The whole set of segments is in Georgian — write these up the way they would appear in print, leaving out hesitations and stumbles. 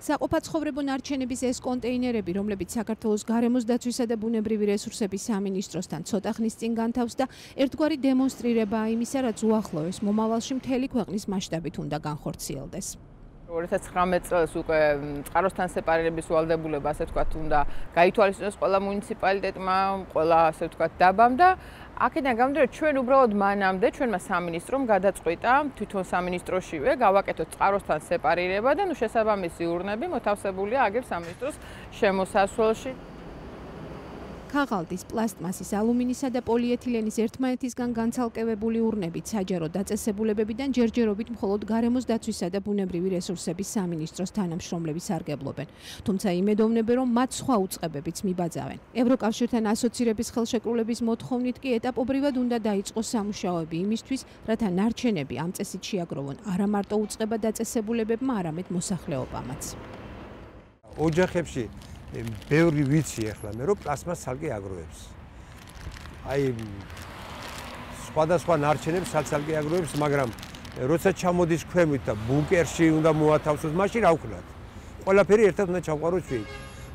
საყოფაცხოვრებო ნარჩენების ეს კონტეინერები, რომლებიც საქართველოს გარემოს დაცვისა და ბუნებრივი რესურსების სამინისტროსთან ცოტა ხნის წინ განთავს და ერთგვარი დემონსტრირებაა იმისა, რაც უახლოეს მომავალში მთელი ქვეყნის მასშტაბით უნდა განხორციელდეს. 2019 წელს უკვე წყაროსთან სეპარირების ვალდებულება, ასე ვთქვათ, უნდა გაითვალისწინოს ყველა მუნიციპალიტეტმა, ყველა, ასე ვთქვათ, დაბამ და აქედან გამომდინარე, ჩვენ უბრალოდ მანამდე ჩვენმა სამინისტრომ გადაწყვიტა თვითონ სამინისტროშივე გავაკეთოთ წყაროსთან სეპარირება და შესაბამისი ურნები მოთავსებულია აგერ სამინისტროს შემოსასვლელში. ქაღალდის, პლასტმასის, ალუმინისა და პოლიეთილენის ერთმანეთისგან განცალკევებული ურნებით საჯარო დაწესებულებებიდან ჯერჯერობით მხოლოდ გარემოს დაცვისა და ბუნებრივი რესურსების სამინისტროს თანამშრომლები სარგებლობენ. თუმცა იმედოვნებენ, რომ მათ სხვა უწყებებიც მიბაძავენ. ევროკავშირთან ასოცირების ხელშეკრულების მოთხოვნით კი ეტაპობრივად უნდა დაიწყოს სამუშაოები იმისთვის, რათა ნარჩენები ამ წესით შეაგროვონ არა მარტო უწყება დაწესებულებებმა, არამედ მოსახლეობამაც. ოჯახებში ბევრი ვიცი ახლა მე რომ პლასმას ცალკე აგროვებს. აი სხვადასხვა ნარჩენებს ცალკე აგროვებს, მაგრამ როცა ჩამოდის ქვემოთ და ბუნკერში უნდა მოათავსოს, მაშინ რა ვქნათ? ყველაფერი ერთად უნდა ჩავყაროს ჩვენი.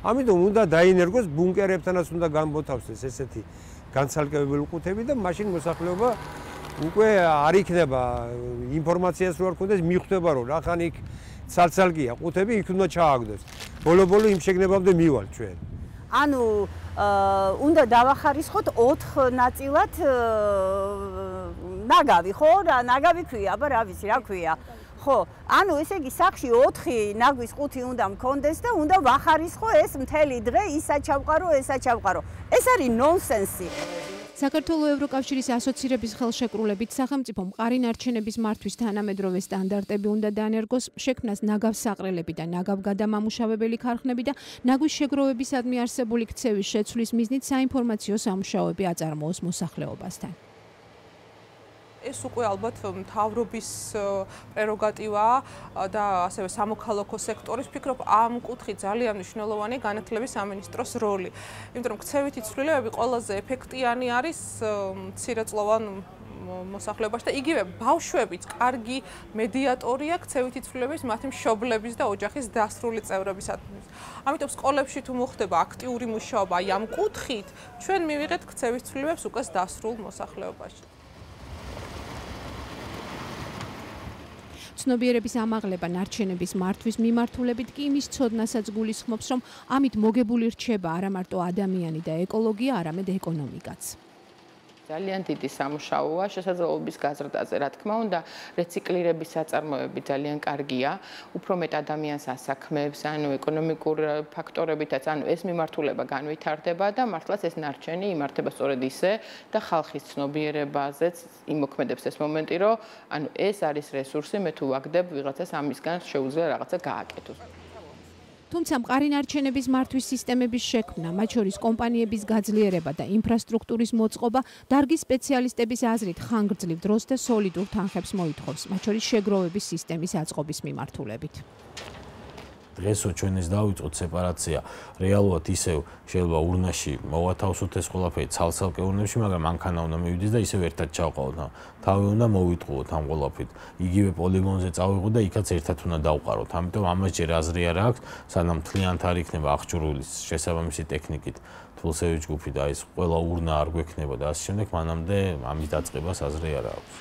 ამიტომ უნდა დაინერგოს ბუნკერებთანაც უნდა გამოთავსდეს ესეთი განცალკევებული ყუთები და მაშინ მოსახლეობა უკვე არ იქნება ინფორმაციას რო არ ქონდეს, მიხვდება რომ რახან იქ ცალკეა ყუთები იქ უნდა ჩააგდოს. ბოლო-ბოლო იმ შეგნებამდე მივალ ჩვენ. ანუ უნდა დავახარისხოთ 4 ნაწილად ნაგავი, ხო? რა ნაგავი ქვია, აბა რა ვიცი, რა ქვია. ხო, ანუ ესე იგი სახში 4 ნაგვის ყუთი უნდა მქონდეს და უნდა ვახარისხო ეს მთელი დღე ისა ჩავყარო, ესა ჩავყარო. ეს არის ნონსენსი. საქართველოს ევროკავშირის ასოცირების ხელშეკრულებით სახელმწიფო მყარი ნარჩენების მართვის თანამედროვე სტანდარტები უნდა დაანერგოს, შექმნას ნაგავსაყრელები და ნაგავგადამამუშავებელი ქარხნები და ნაგვის შეგროვებისადმი არსებული ქცევის შეცვლის მიზნით საინფორმაციო სამუშაოები აწარმოოს მოსახლეობასთან. ეს უკვე ალბათ მთავრობის პრეროგატივაა და ასევე სამოქალაქო სექტორის ფიქრობ ამ კუთხით ძალიან მნიშვნელოვანი განათლების სამინისტროს როლი. იმიტომ რომ ქცევითი ცვლილებები ყველაზე ეფექტიანი არის მცირეწლოვან მოსახლეობაში და იგივე ბავშვებიც კარგი მედიატორია ქცევითი ცვლილების მათი მშობლების და ოჯახის დასრული წევრებისათვის. ამიტომ სკოლებში თუ მოხდება აქტიური მუშაობა აი ამ კუთხით, ჩვენ მივიღეთ ქცევის ცვლილებებს უკვე დასრულ მოსახლეობაში. ცნობიერების ამაღლება ნარჩენების მართვის მიმართულებით კი იმის ცოდნასაც გულისხმობს, რომ ამით მოგებული რჩება არა მარტო ადამიანი და ეკოლოგია, არამედ ეკონომიკაც. ძალიან დიდი სამუშაოა შესაძლებლობის გაზრდაზე, რა თქმა უნდა, რეციკლირების საწარმოები ძალიან კარგია, უფრო მეტ ადამიანს ასაქმებს, ანუ ეკონომიკურ ფაქტორებითაც, ანუ ეს მიმართულება განვითარდება და მართლაც ეს ნარჩენი იმართება სწორედ ისე და ხალხის ცნობიერებაზეც იმოქმედებს ეს მომენტი, რომ ანუ ეს არის რესურსი, მე თუ ვაგდებ ვიღაცას ამისგან შეუძლია რაღაცა გააკეთოს. თუმცა მყარი ნარჩენების მართვის სისტემების შექმნა, მათ შორის კომპანიების გაძლიერება და ინფრასტრუქტურის მოწყობა დარგის სპეციალისტების აზრით ხანგრძლივ დროს და სოლიდურ თანხებს მოითხოვს, მათ შორის შეგროვების სისტემის აწყობის მიმართულებით. დღესო ჩვენ ეს დავიწყოთ სეპარაცია, რეალურად ისევ შეიძლება ურნაში მოვათავსოთ ეს ყველაფერი ცალ-ცალკე ურნებში, მაგრამ მანქანა უნდა მივიდეს და ისევ ერთად ჩავყავოთ. თავი უნდა მოვიტყუოთ ამ ყველაფრით. იგივე პოლიგონზე წავიღოთ და იქაც ერთად უნდა დავყაროთ. ამიტომ ამას ჯერ აზრი არ აქვს, სანამ მთლიანად არ იქნება აღჭურვილი შესაბამისი ტექნიკით, თულსევი ჯგუფი და ეს ყველა ურნა არ გვექნება და ასე შემდეგ, მანამდე ამის დაწყებას აზრი არ აქვს.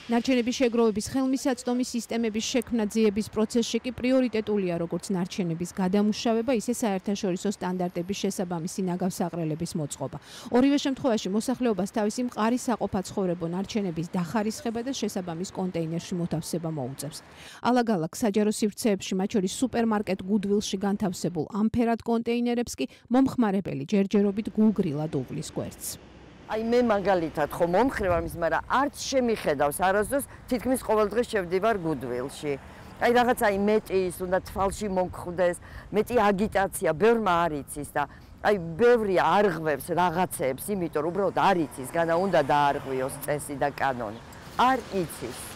ნარჩენების შეგროვების ხელმისაწვდომი სისტემების შექმნა ძიების პროცესში კი პრიორიტეტულია როგორც ნარჩენების გადამუშავება, ისე საერთაშორისო სტანდარტების შესაბამისი ნაგავსაყრელების მოწყობა. ორივე შემთხვევაში მოსახლეობას თავისი მყარი საყოფაცხოვრებო ნარჩენების დახარისხება და შესაბამის კონტეინერში მოთავსება მოუწევს. ალაგ-ალაგ საჯარო სივრცეებში, მათ შორის სუპერმარკეტ გუდვილში განთავსებულ ამფერად კონტეინერებს კი მომხმარებელი ჯერჯერობით გულგრილად უვლის გვერდს. აი მე მაგალითად ხო მომხრევ ამის, მაგრამ არც შემიხედავს არასდროს თითქმის ყოველ დღე შევდივარ გუდვილში. აი რაღაცა მეტი ის უნდა თვალში მომხდეს, მეტი აგიტაცია, ბევრმა არ იცის და აი ბევრი არღვევს რაღაცეებს, იმიტომ რომ უბრალოდ არ იცის, განა უნდა დაარღვიოს წესი და კანონი. არ იცის.